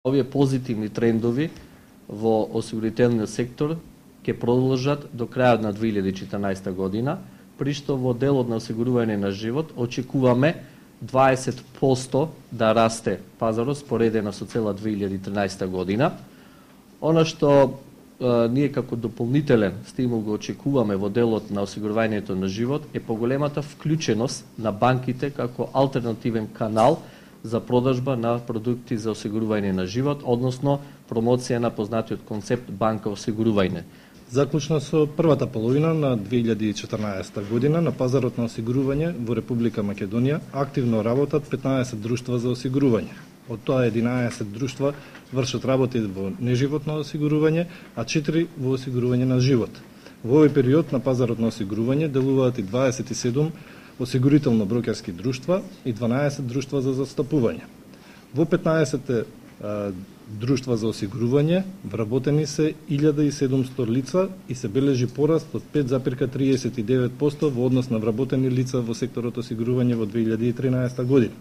Овие позитивни трендови во осигурителниот сектор ќе продолжат до крајот на 2014 година, при што во делот на осигурување на живот очекуваме 20% да расте пазарот споредено со цела 2013 година. Она што ние како дополнителен стимул го очекуваме во делот на осигурувањето на живот е поголемата вклученост на банките како алтернативен канал за продажба на продукти за осигурување на живот, односно промоција на познатиот концепт банка осигурување. Заклучно со првата половина на 2014 година на пазарот на осигурување во Република Македонија активно работат 15 друштва за осигурување. Од тоа 11 друштва вршат работи во неживотно осигурување, а 4 во осигурување на живот. Во овој период на пазарот на осигурување делуваат и 27 осигурително-брокерски друштва и 12 друштва за застапување. Во 15 друштва за осигурување вработени се 1700 лица и се бележи пораст од 5,39% во однос на вработени лица во секторот осигурување во 2013 година.